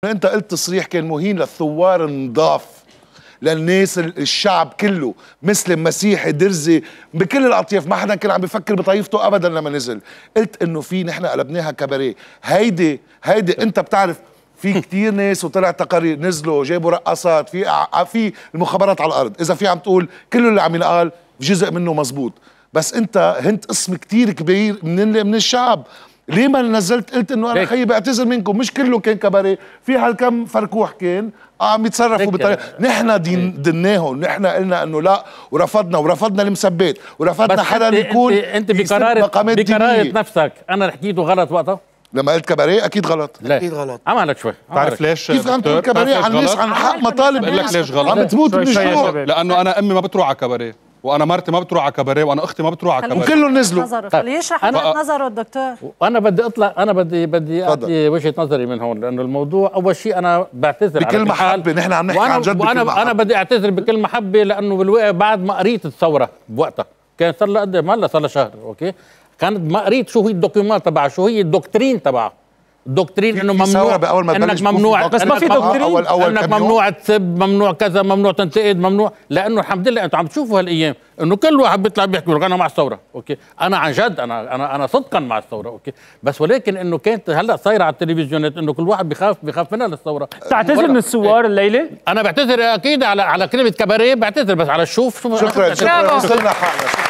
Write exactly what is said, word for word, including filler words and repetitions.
انت قلت تصريح كان مهين للثوار النضاف، للناس الشعب كله، مسلم مسيحي درزي بكل الاطياف، ما حدا كان عم بيفكر بطائفته ابدا لما نزل. قلت انه في نحن قلبناها كباريه. هيدي هيدي انت بتعرف في كتير ناس وطلع تقارير نزلوا جابوا رقصات، في في المخابرات على الارض، اذا في عم تقول كله اللي عم ينقال جزء منه مزبوط، بس انت هنت قسم كتير كبير من من الشعب. ليه ما نزلت قلت انه انا خيي بعتذر منكم؟ مش كله كان كباريه، في هالكم فركوح كان عم يتصرفوا بطريقه. نحن دناهم، نحن قلنا انه لا، ورفضنا ورفضنا المسبات، ورفضنا حدا يكون انت بقرار بقرارة نفسك. انا حكيته غلط وقتها لما قلت كباريه. اكيد غلط. لا. اكيد غلط. عملت شوي. بتعرف ليش؟ كيف عم تقول كباريه عن الناس، عن حق مطالب بقول لك ليش غلط؟ عم بتموت من الجوع. لانه انا امي ما بتروح على كباريه، وانا مرتي ما بتروح على كباريه، وانا اختي ما بتروح على كباريه، وكلهم نزلوا. خليه يشرح وجهة نظره الدكتور. وانا بدي اطلع، انا بدي بدي اعطي وجهة نظري من هون، لانه الموضوع اول شيء انا بعتذر بكل محبه. نحن عم نحكي عن جد. وانا محبة. انا بدي اعتذر بكل محبه، لانه بالوقت بعد ما قريت الثوره بوقتها، كان صار لها قد ايه؟ هلا صار لها شهر، اوكي؟ كانت ما قريت شو هي الدوكيومنت تبعها، شو هي الدوكترين تبعها. الدوكترين انه ممنوع انك ممنوع، بس ما في دوكترين أول أول انك ممنوع تسب، ممنوع كذا، ممنوع تنتقد، ممنوع، لانه الحمد لله انتم عم تشوفوا هالايام انه كل واحد بيطلع بيحكي لك انا مع الثوره، اوكي؟ انا عن جد انا انا انا صدقا مع الثوره، اوكي؟ بس ولكن انه كانت هلا صايره على التلفزيونات انه كل واحد بخاف بخاف منها للثوره. تعتذر من الثوار الليله؟ انا بعتذر اكيد على على كلمه كباريه، بعتذر، بس على الشوف. شكرا شكرا. وصلنا حالنا.